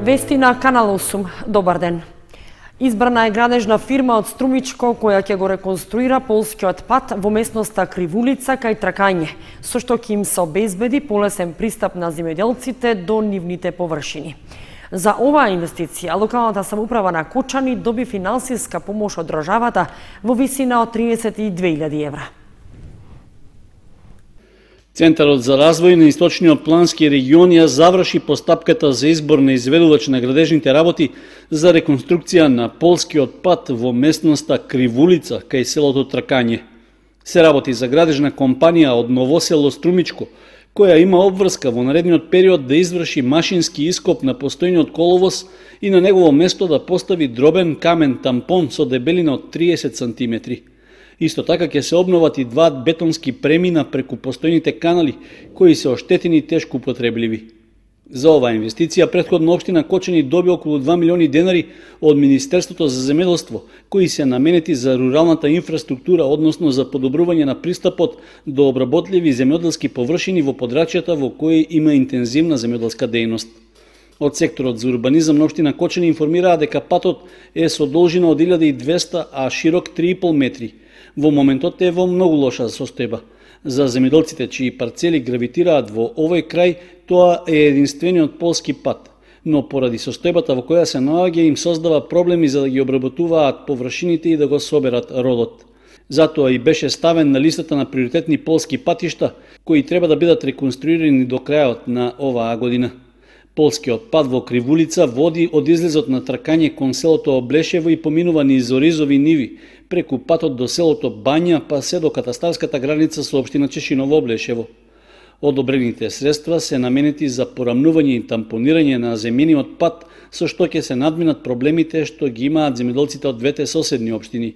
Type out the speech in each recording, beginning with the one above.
Вести на Канал 8. Добар ден. Избрана е градежна фирма од Струмичко која ќе го реконструира полскиот пат во местноста Кривулица кај Тракање, со што ќе им се обезбеди полесен пристап на земјоделците до нивните површини. За оваа инвестиција, локалната самоуправа на Кочани доби финансиска помош од државата во висина од 32.000 евра. Центарот за развој на Источниот плански регион ја заврши постапката за избор на изведувач на градежните работи за реконструкција на полскиот пат во местноста Кривулица кај селото Тракање. Се работи за градежна компанија од Новосело Струмичко, која има обврска во наредниот период да изврши машински ископ на постојниот коловоз и на негово место да постави дробен камен тампон со дебелина од 30 сантиметри. Исто така ќе се обноват и два бетонски премина преку постојните канали, кои се оштетени и тешко употребливи. За оваа инвестиција претходно општина Кочани доби околу 2 милиони денари од Министерството за земјоделство, кои се наменети за руралната инфраструктура, односно за подобрување на пристапот до обработливи земјоделски површини во подрачјата во кои има интензивна земјоделска дејност. Од секторот за урбанизам на општина Кочани информираа дека патот е со должина од 1200, а широк 3,5 метри. Во моментот е во многу лоша состојба. За земјоделците чии парцели гравитираат во овој крај, тоа е единствениот полски пат, но поради состојбата во која се наоѓа им создава проблеми за да ги обработуваат површините и да го соберат родот. Затоа и беше ставен на листата на приоритетни полски патишта, кои треба да бидат реконструирани до крајот на оваа година. Полскиот пат во Кривулица води од излезот на Тракање кон селото Облешево и поминува низ оризови ниви, преку патот до селото Бања, па се до катастарската граница со општина Чешиново Облешево. Одобрените средства се наменети за порамнување и тампонирање на земјениот пат, со што ќе се надминат проблемите што ги имаат земјоделците од двете соседни општини.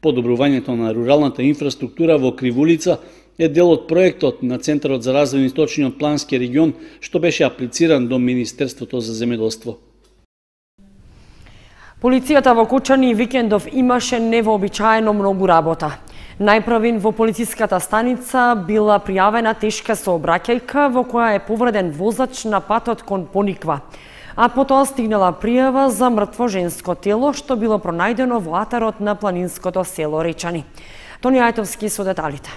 Подобрувањето на руралната инфраструктура во Кривулица е дел од проектот на Центарот за развој на Источниот плански регион, што беше аплициран до Министерството за земјоделство. Полицијата во Кочани викендов имаше невообичаено многу работа. Најпрвин во полициската станица била пријавена тешка сообраќајка во која е повреден возач на патот кон Пониква, а потоа стигнала пријава за мртво женско тело што било пронајдено во атарот на планинското село Речани. Тони Ајтовски со деталите.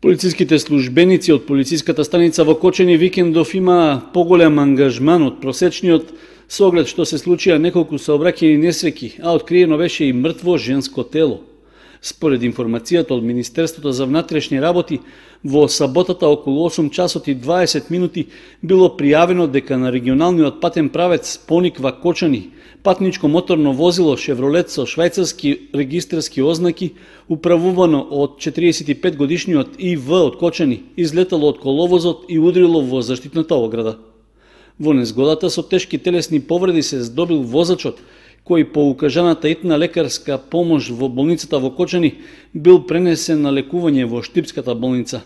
Полициските службеници од полициската станица во Кочани викендов има поголем ангажман од просечниот со оглед што се случија неколку сообраќајни несреќи, а откриено беше и мртво женско тело. Според информацијата од Министерството за внатрешни работи, во саботата околу 8 часот и 20 минути било пријавено дека на регионалниот патен правец Пониква Кочани патничко моторно возило Шевролет со швајцарски регистарски ознаки, управувано од 45 годишниот ИВ од Кочани, излетало од коловозот и удрило во заштитната ограда. Во незгодата со тешки телесни повреди се здобил возачот, кој по укажаната итна лекарска помош во болницата во Кочани бил пренесен на лекување во Штипската болница.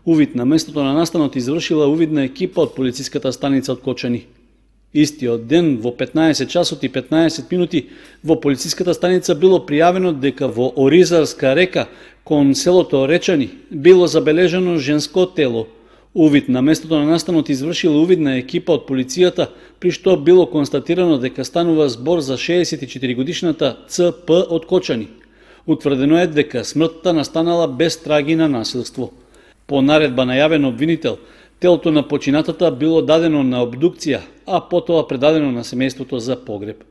Увид на местото на настанот извршила увидна екипа од полициската станица од Кочани. Истиот ден во 15 часот и 15 минути во полициската станица било пријавено дека во Оризарска река кон селото Речани било забележано женско тело. Увид на местото на настанот извршила увидна екипа од полицијата, при што било констатирано дека станува збор за 64 годишната ЦП од Кочани. Утврдено е дека смртта настанала без траги на насилство. По наредба на јавен обвинител, телото на починатата било дадено на обдукција, а потоа предадено на семејството за погреб.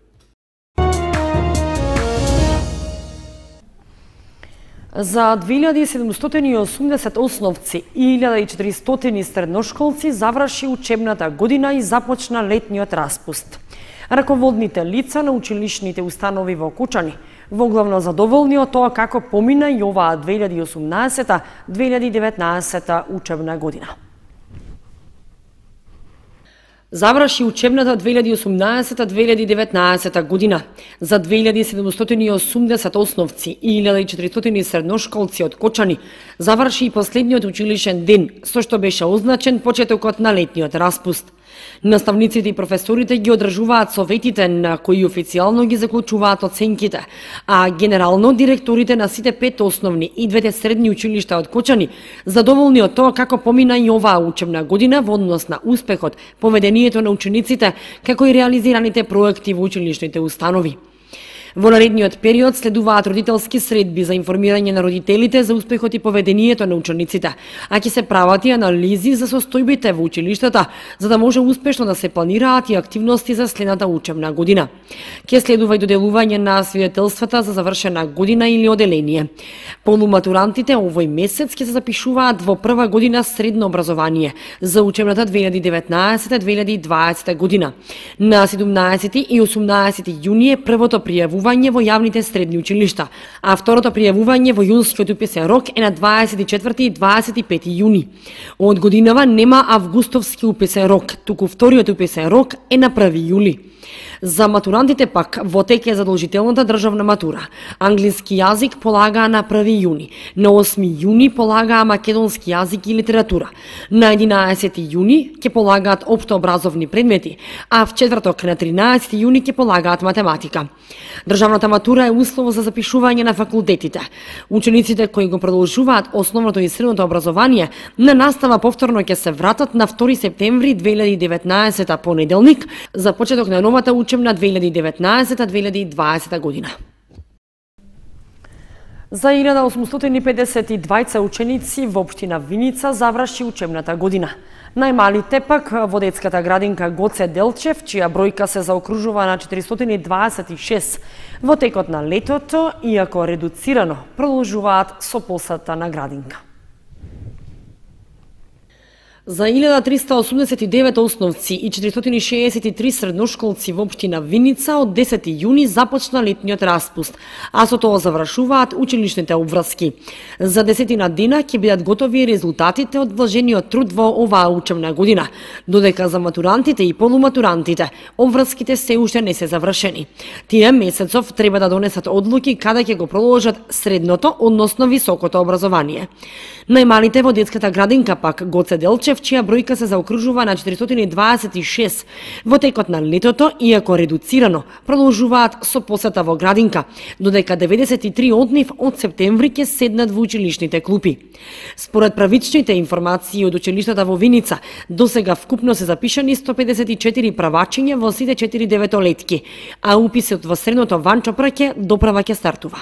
За 2780 основци и 1400 средношколци заврши учебната година и започна летниот распуст. Раководните лица на училишните установи во Кочани во главно задоволни од тоа како помина и оваа 2018-2019 учебна година. Заврши учебната 2018-2019 година. За 2780 основци и 1400 средношколци од Кочани заврши и последниот училишен ден, со што беше означен почетокот на летниот распуст. Наставниците и професорите ги одржуваат советите на кои официјално ги заклучуваат оценките, а генерално директорите на сите 5 основни и 2 средни училишта од Кочани задоволни од тоа како помина и оваа учебна година во однос на успехот, поведението на учениците, како и реализираните проекти во училишните установи. Во наредниот период следуваат родителски средби за информирање на родителите за успехот и поведението на учениците, а ќе се прават и анализи за состојбите во училиштата, за да може успешно да се планираат и активности за следната учебна година. Ќе следува и доделување на свидетелствата за завршена година или оделение. Полуматурантите овој месец ќе се запишуваат во прва година средно образование за учебната 2019-2020 година. На 17 и 18 јуни е првото пријавување во јавните средни училишта, а второто пријавување во јунскиот уписен рок е на 24 и 25 јуни. Од годинава нема августовски уписен рок, туку вториот уписен рок е на 1 јули. За матурантите пак во тек е задолжителната државна матура. Англиски јазик полагаа на 1 јуни, на 8 јуни полагаа македонски јазик и литература, на 11 јуни ќе полагаат општообразовни предмети, а в четврток на 13 јуни ќе полагаат математика. Државната матура е услов за запишување на факултетите. Учениците кои го продолжуваат основното и средното образование на настава повторно ќе се вратат на 2 септември 2019 понеделник за почеток на новата учебна 2019-2020 година. За 1852 ученици во општина Виница заврши учебната година. Најмалите пак во детската градинка Гоце Делчев, чија бројка се заокружува на 426 во текот на летото, иако редуцирано, продолжуваат со посета на градинка. За 1389 основци и 463 средношколци во општина Виница од 10 јуни започна летниот распуст, а со тоа завршуваат училишните обврски. За 10 дена ќе бидат готови резултатите од вложениот труд во оваа учебна година, додека за матурантите и полуматурантите обврските се уште не се завршени. Тие месецов треба да донесат одлуки каде ќе го продолжат средното, односно високото образование. Најмалите во детската градинка пак Гоце Делчев, чија бројка се заокружува на 426 во текот на летото, иако редуцирано, продолжуваат со посета во градинка, додека 93 од нив од септември ќе седнат во училишните клупи. Според правичните информации од училиштата во Виница, досега вкупно се запишани 154 правачиња во сите 4 деветолетки, а уписот во средното Ванчо Праќе доправа ќе стартува.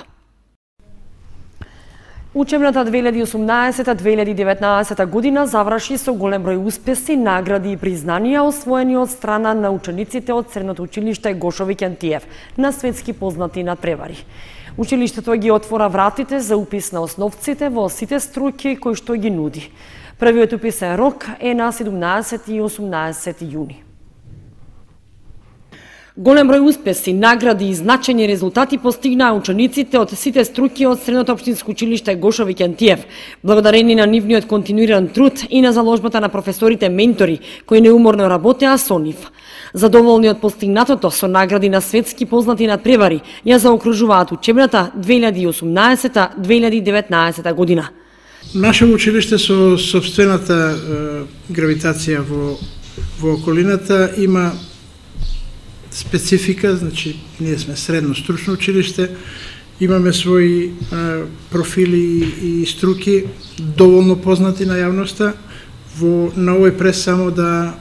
Учебната 2018-2019 година заврши со голем број успеси, награди и признанија освоени од страна на учениците од Средното училиште Гошо Викентиев на светски познати надпревари. Училиштето ги отвора вратите за упис на основците во сите струки кои што ги нуди. Првиот уписен рок е на 17 и 18 јуни. Голем број успеси, награди и значајни резултати постигнаа учениците од сите струки од Средното општинско училиште Гошо Викентиев, благодарение на нивниот континуиран труд и на заложбата на професорите ментори, кои неуморно работеа со нив. Задоволни од постигнатото со награди на светски познати надпревари, ја заокружуваат учебната 2018-2019 година. Наше училиште со собствената гравитација во околината има специфика, значи ние сме средно стручно училиште, имаме своји профили и струки доволно познати на јавноста. На овој прес само да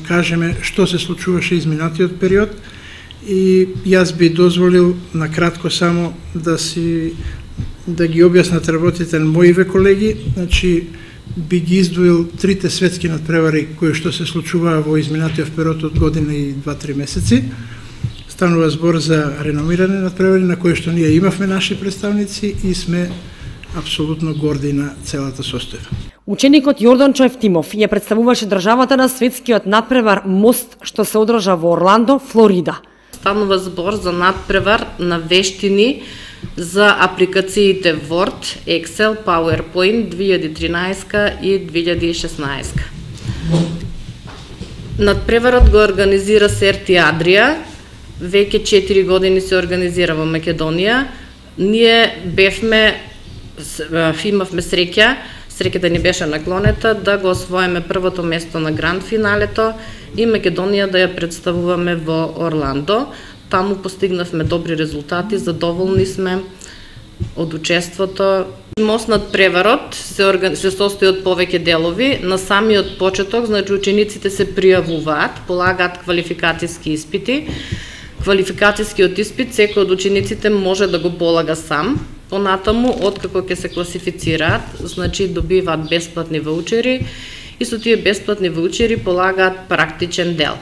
кажеме што се случуваше изминатиот период и јас би дозволил на кратко само да ги објаснат работите на моиве колеги. Значи би ги издвоил трите светски надпревари кои што се случуваа во изминатиот период од година и 2-3 месеци. Станува збор за реномирани надпревари на кои што ние имавме наши представници и сме апсолутно горди на целата состојба. Ученикот Јордан Ефтимов ја представуваше државата на светскиот надпревар Мост што се одржа во Орландо, Флорида. Станува збор за надпревар на вештини за апликациите Word, Excel, PowerPoint 2013 и 2016. Надпреварот го организира Серти Адрија, веќе 4 години се организира во Македонија. Ние имавме среќа среќата ни беше наклонета да го освоиме првото место на гранд финалето и Македонија да ја представуваме во Орландо. Таму постигнавме добри резултати, задоволни сме од учеството. Мост над преварот се состои од повеќе делови. На самиот почеток, значи учениците се пријавуваат, полагаат квалификацијски испити. Квалификацијскиот испит секој од учениците може да го полага сам. Понатаму, откако ќе се класифицираат, значи добиваат бесплатни ваучери и со тие бесплатни ваучери полагаат практичен дел.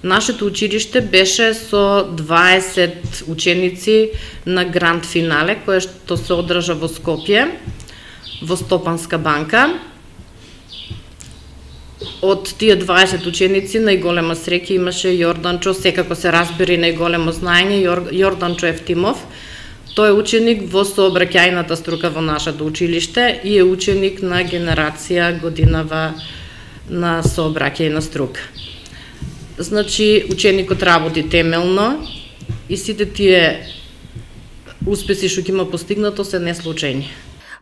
Нашето училиште беше со 20 ученици на гранд финале, кое што се одржа во Скопје, во Стопанска банка. Од тие 20 ученици најголема среќа имаше Јорданчо, секако се разбери најголемо знаење, Јорданчо Евтимов. Тој е ученик во сообраќајната струка во нашето училиште и е ученик на генерација годинава на сообраќајна струка. Значи, ученикот работи темелно и сите тие успеси што има постигнато се неслучајни.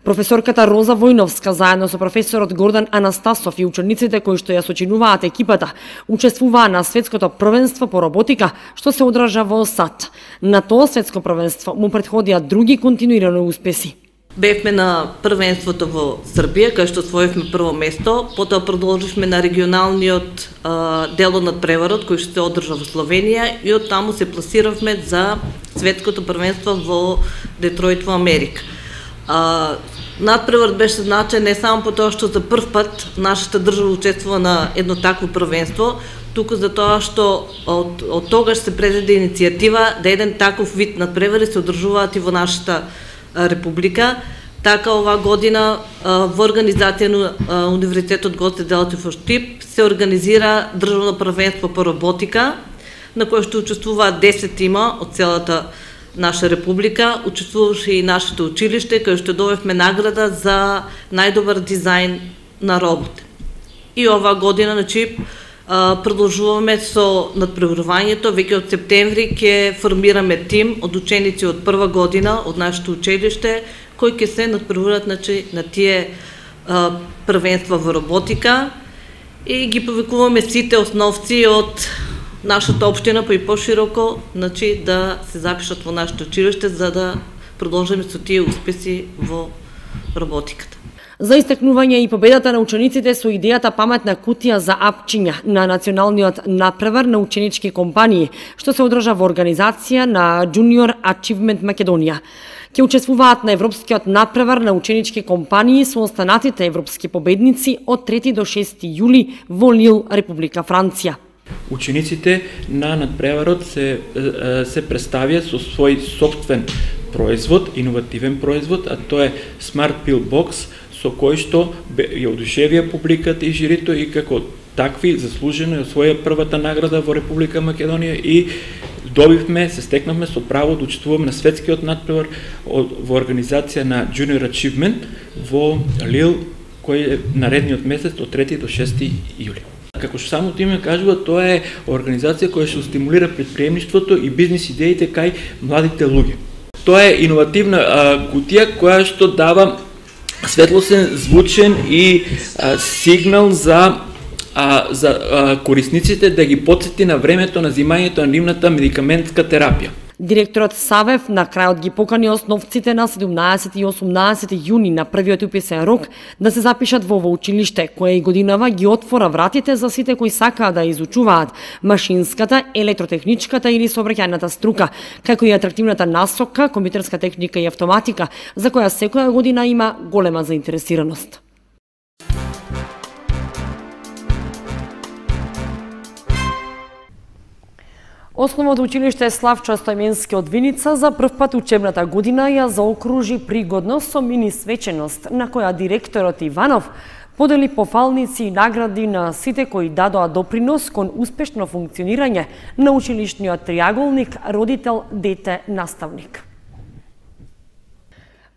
Професорката Роза Војновска заедно со професорот Гордан Анастасов и учениците кои што ја сочинуваат екипата учествуваа на светското првенство по роботика што се одржа во САД. На тоа светско првенство му претходија други континуирани успеси. Бевме на првенството во Србија, кај што освоивме прво место, потоа продолживме на регионалниот дел над преварот, кој што се одржа во Словенија и од таму се пласиравме за светското првенство во Детройт во Америка. Надпреварот беше значаен не само по тоа што за прв пат нашата држава учествува на едно такво првенство, туку за тоа што од тогаш се презеде иницијатива да еден таков вид надпревари се одржуваат и во нашата република. Така оваа година во организација на Универзитетот Гоце Делчев во Штип се организира државно првенство по роботика, на кое што учествуваат 10 тима од целата наша република. Учествуваше и нашето училиште, кај што добивме награда за најдобар дизајн на робот. И оваа година, значи, продолжуваме со надпреварувањето. Веќе од септември ќе формираме тим од ученици од прва година од нашето училиште, кои ќе се надпреваруваат, значи, на тие првенства во роботика и ги повикуваме сите основци од нашата општина, па и пошироко, значи, да се запишат во нашето училиште за да продолжиме со тие успеси во роботиката. За истакнување и победата на учениците со идејата паметна кутија за апчиња на националниот надпревар на ученички компании, што се одржа во организација на Junior Achievement Македонија. Ќе учествуваат на европскиот надпревар на ученички компании со останатите европски победници од 3 до 6 јули во Лил, Република Франција. Учениците на надпреварот се представија со свој сопствен производ, иновативен производ, а тоа е Smart Pill Box, со кој што ја одушевија публиката и жирито и како такви заслужено ја освоја првата награда во Република Македонија и добивме, се стекнавме со право да учествуваме на светскиот надпревар во организација на Junior Achievement во Лил, кој е наредниот месец од 3 до 6 јули. Како што самото име кажува, тоа е организација која ќе стимулира претприемништвото и бизнис идеите кај младите луѓе. Тоа е иновативна кутија која што дава светлосен, звучен и сигнал за корисниците да ги потсети на времето на земањето на нивната медикаментска терапија. Директорот Савев на крајот ги покани основците на 17 и 18 јуни на првиот уписен рок да се запишат во училиште, кое и годинава ги отвора вратите за сите кои сакаат да изучуваат машинската, електротехничката или сообраќајната струка, како и атрактивната насока, компјутерска техника и автоматика, за која секоја година има голема заинтересираност. Основното училиште Славчо Стојменски од Виница за прв пат учебната година ја заокружи пригодно со мини свеченост, на која директорот Иванов подели пофалници и награди на сите кои дадоа допринос кон успешно функционирање на училишниот триаголник родител, дете, наставник.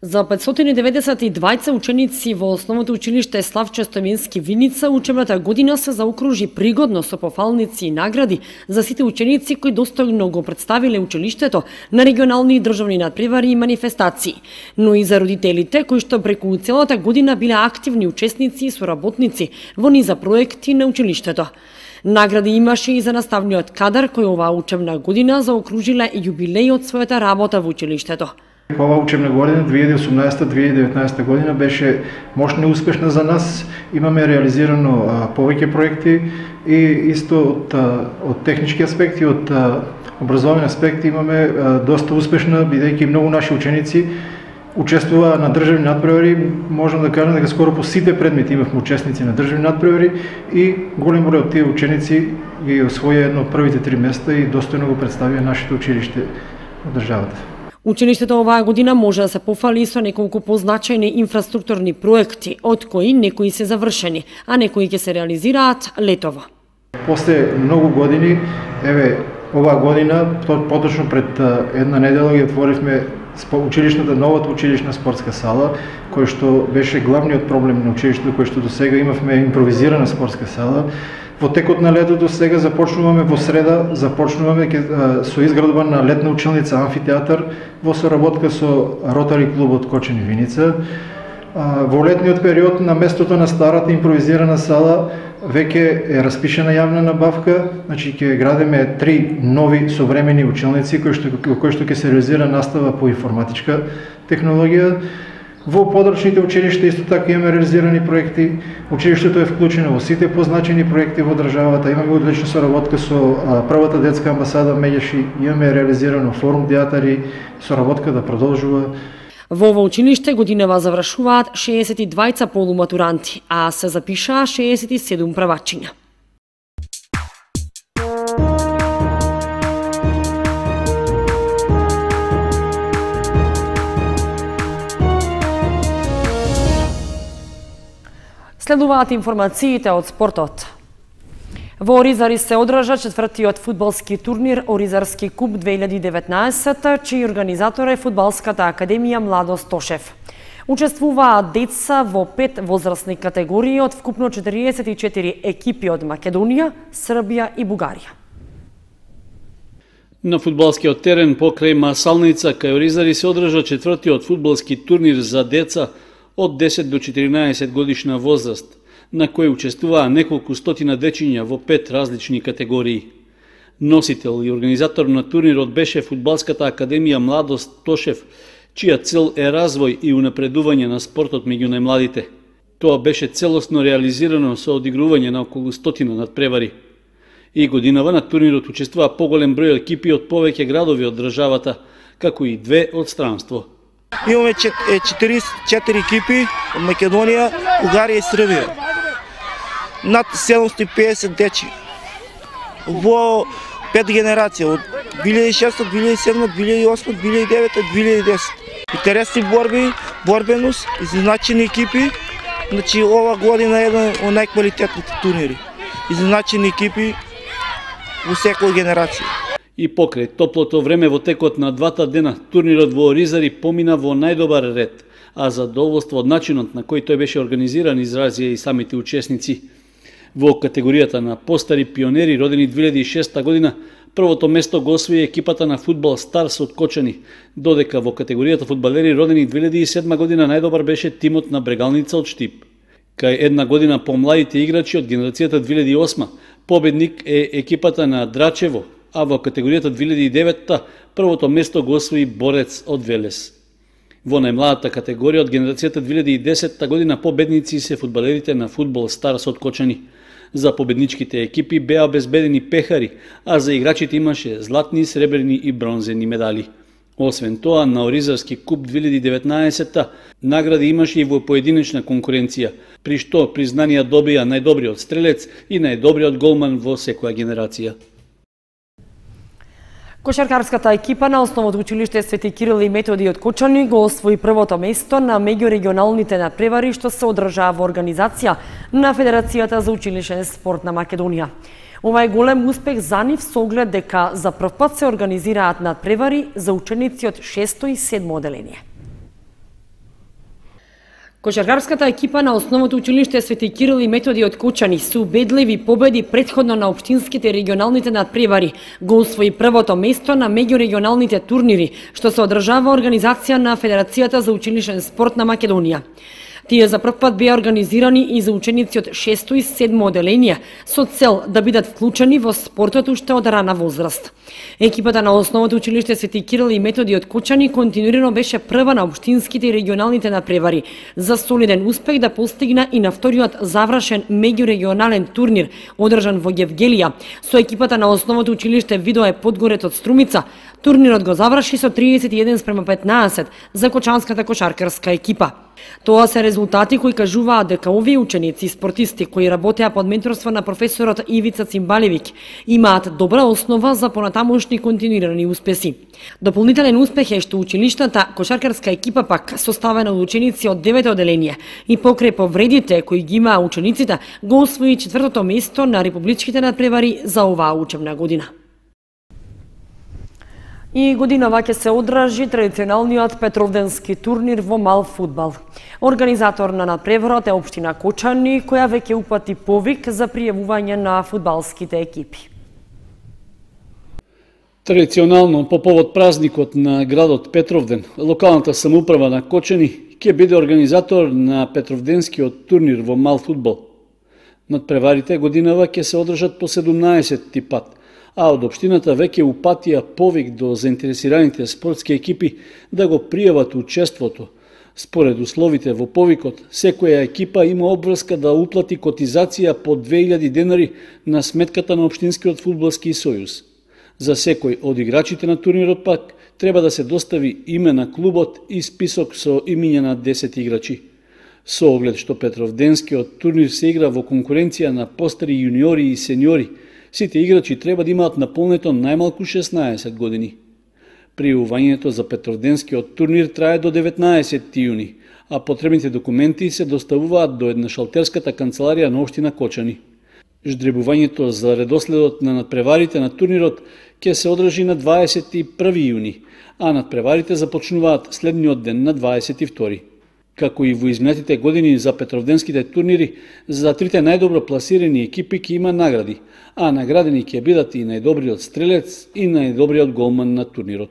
За 592 ученици во основното училиште Славчо Стоименски Виница учебната година се заокружи пригодно со пофалници и награди за сите ученици кои достојно го представиле училиштето на регионални и државни надпревари и манифестации, но и за родителите кои што преку целата година биле активни учесници и соработници во низа проекти на училиштето. Награди имаше и за наставниот кадар кој оваа учебна година заокружиле јубилеј од својата работа во училиштето. Ова учебна година 2018-2019 година беше мощно и успешна за нас. Имаме реализирано повеќе проекти и исто од технички аспекти, од образовни аспекти имаме доста успешна, бидејќи многу наши ученици учествуваа на државни надпревари. Можам да кажам дека скоро по сите предмети имавме учесници на државни надпревари и голем број од тие ученици ги освоја едно од првите 3 места и достојно го представија нашето училиште од државата. Училиштето оваа година може да се пофали со неколку позначајни инфраструктурни проекти, од кои некои се завршени, а некои ќе се реализираат летово. После многу години, оваа година, поточно пред една недела ги отворивме новата училишна спортска сала, кој што беше главниот проблем на училиштето, кој што до сега имавме импровизирана спортска сала. Во текот на летото сега започнуваме во среда, со изградба на летна училница амфитеатар во соработка со Ротари клубот Кочани Виница. Во летниот период на местото на старата импровизирана сала веќе е распишена јавна набавка, значи ќе градиме 3 нови современи училници кои што ќе се реализира настава по информатичка технологија. Во подрачните училишта исто така имаме реализирани проекти. Училиштето е вклучено во сите позначени проекти во државата. Имаме одлична соработка со првата детска амбасада Меѓаши, имаме реализирано форум театари, соработка да продолжува. Во ова училиште годинава завршуваат 62 полуматуранти, а се запишаа 67 правачиња. Следуваат информациите од спортот. Во Оризари се одржа четвртиот фудбалски турнир Оризарски куп 2019, чиј организатор е Фудбалската академија Младост Тошев. Учествуваат деца во 5 возрастни категории од вкупно 44 екипи од Македонија, Србија и Бугарија. На фудбалскиот терен покрај Масалница кај Оризари се одржа четвртиот фудбалски турнир за деца од 10 до 14 годишна возраст, на кој учествуваа неколку стотина дечиња во 5 различни категории. Носител и организатор на турнирот беше Фудбалската академија Младост Тошев, чија цел е развој и унапредување на спортот меѓу најмладите. Тоа беше целосно реализирано со одигрување на околу стотина надпревари. И годинава на турнирот учествува поголем број екипи од повеќе градови од државата, како и 2 од странство. Имаме 44 екипи од Македонија, Бугарија и Србија. Над 750 дечи. Во 5 генерации, од 2006, 2007, 2008, 2009, 2010. Интересни борби, борбеност, изначени екипи. Значи, ова година е еден од најквалитетните турнири. Изначени екипи во секоја генерација. И покрај топлото време во текот на 2 дена, турнирот во Оризари помина во најдобар ред, а задоволство од начинот на кој тој беше организиран изразија и самите учесници. Во категоријата на постари пионери родени 2006 година, првото место го освои екипата на фудбал Старс од Кочани, додека во категоријата фудбалери родени 2007 година најдобар беше тимот на Брегалница од Штип. Кај една година помладите играчи од генерацијата 2008, победник е екипата на Драчево, а во категоријата 2009 првото место го освои Борец од Велес. Во најмладата категорија од генерацијата 2010 година победници се фудбалерите на фудбал Старс од Кочани. За победничките екипи беа обезбедени пехари, а за играчите имаше златни, сребрени и бронзени медали. Освен тоа, на Оризарски куп 2019 награди имаше и во поединечна конкуренција, при што признанија добија најдобриот стрелец и најдобриот голман во секоја генерација. Кошаркарската екипа на основното училиште Свети Кирил и Методи од Кочани го освои првото место на меѓурегионалните надпревари што се одржаа во организација на Федерацијата за училишен спорт на Македонија. Ова е голем успех за нив со оглед дека за прв пат се организираат надпревари за ученици од 6 и 7 оделение. Кошаркарската екипа на основното училиште Свети Кирил и Методи од Кучани со убедливи победи претходно на општинските и регионалните надпревари го освои првото место на меѓурегионалните турнири, што се одржава организација на Федерацијата за училишен спорт на Македонија. Тие за прв пат беа организирани и за ученици од 6 и 7 оделенија со цел да бидат вклучени во спортот уште од рана возраст. Екипата на основното училиште Свети Кирил и Методи од Кучани континуирано беше прва на општинските и регионалните надпревари. За солиден успех да постигна и на вториот завршен меѓурегионален турнир одржан во Гевгелија со екипата на основното училиште Видое Подгорец од Струмица. Турнирот го заврши со 31:15 за кочанската кошаркарска екипа. Тоа се резултати кои кажуваат дека овие ученици и спортисти кои работеа под менторство на професорот Ивица Цимбалевик имаат добра основа за понатамошни континуирани успеси. Дополнителен успех е што училишната кошаркарска екипа пак составена од ученици од 9 оделенија и покрај повредите кои ги имаа учениците го освои 4-то место на републичките надпревари за оваа учебна година. И годинава ќе се одржи традиционалниот Петровденски турнир во мал фудбал. Организатор на надпреварот е општина Кочани, која веќе упати повик за пријавување на фудбалските екипи. Традиционално по повод празникот на градот Петровден, локалната самоуправа на Кочани ќе биде организатор на Петровденскиот турнир во мал фудбал. Надпреварите годинава ќе се одржат по 17-ти пат, а од општината веќе упатија повик до заинтересираните спортски екипи да го пријават учеството. Според условите во повикот, секоја екипа има обврска да уплати котизација по 2000 денари на сметката на Општинскиот фудбалски сојуз. За секој од играчите на турнирот пак треба да се достави име на клубот и список со имиња на 10 играчи. Со оглед што Петровденскиот турнир се игра во конкуренција на постари јуниори и сениори, сите играчи треба да имаат наполнето најмалку 16 години. Пријавувањето за Петровденскиот турнир трае до 19 јуни, а потребните документи се доставуваат до еднашалтерската канцеларија на општина Кочани. Ждребувањето за редоследот на надпреварите на турнирот ќе се одржи на 21 јуни, а надпреварите започнуваат следниот ден на 22. Како и во изминатите години за Петровденските турнири, за трите најдобро пласирани екипи ќе има награди, а наградени ќе бидат и најдобриот стрелец и најдобриот голман на турнирот.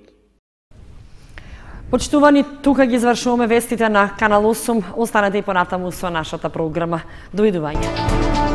Почитувани, тука ги завршуваме вестите на Канал 8. Останете и понатаму со нашата програма. Довидување.